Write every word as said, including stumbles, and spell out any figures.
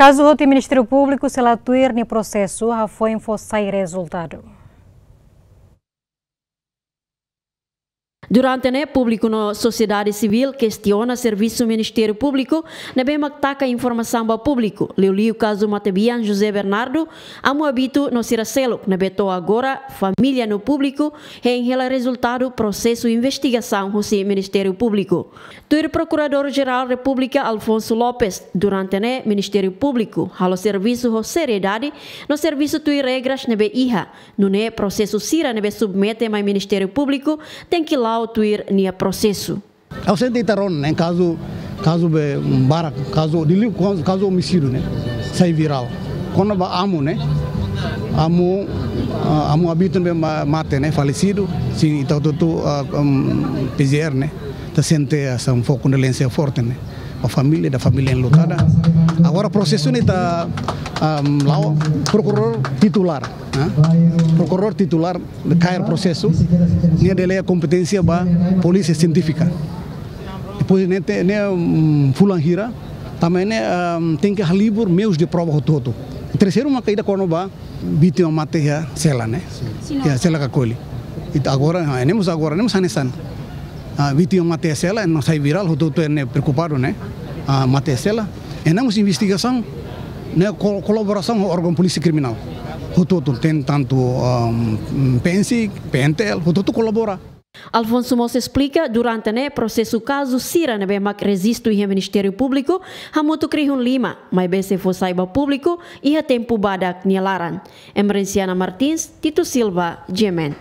Kazu hotu iha Ministériu Públiku, sela tuir nia prosesu, hafoin fó sai rezultadu. Durante ne'e, públiku no sosiedade sivíl kestiona servisu Ministériu Públiku ne'ebé mak taka informasaun ba públiku, liuliu kazu matebian José Bernardo, Amu Abito no sira seluk ne'ebé to'o agora família no públiku hein hela rezultadu prosesu investigasaun husi Ministériu Públiku. Tuir Prokuradór-Jerál Repúblika Alfonso Lopes, durante ne'e Ministériu Públiku halo servisu ho seriedade no servisu tuir regras ne'ebé iha, nune'e prosesu sira ne'ebé submete mai Ministériu Públiku tenke la'o tuir nia prosesu. Ha'u sente ita rona ne'e, kazu, kazu be barak, kazu dili, kazu, kazu omisídiu ne'e sai virál. Kona-ba Amu ne'e, Amu, ah, Amu Abito ne'ebé ma-, mate ne'e, falesidu, sin, ita hotu-hotu, ah, um, P G R ne'e, ita sente, ah, sente kondolánsia forte ne'e ba família, ba família enlutada. Agora prosesu ne'e ita, um, la'o Prokuradór Titulár, ah, Prokuradór Titulár kaer prosesu, nia delega kompeténsia ba Polísia Sientífika. Depois ne'e te-, ne'e, um, fulan hira, tanba ne'e, um, tenke halibur meius de prova hotu-hotu. Terseiru maka ida kona-ba vítima mate iha sela ne'e. Iha sela Cacoeli. Ita agora, ah, ne'e mós agora, ne'e mós hanesan. Ah, vítima mate iha sela, no sai virál, hotu-hotu ne'e preokupadu ne'e. Ah, mate iha sela. E ne'e mós investigasaun, ne'e ko-, kolaborasaun ho órgaun polísia kriminál. Hotu-hotu, ten tantu, um, PNSIK, PNTL, hotu-hotu kolabora. Alfonso mós esplika, durante ne'e prosesu kazu sira ne'ebé mak rejistu iha Ministériu Públiku hamutuk rihun lima, maibé sei fó sai ba públiku iha tempu badak nia laran. Emerenciana Martins, Tito Silva, G M N.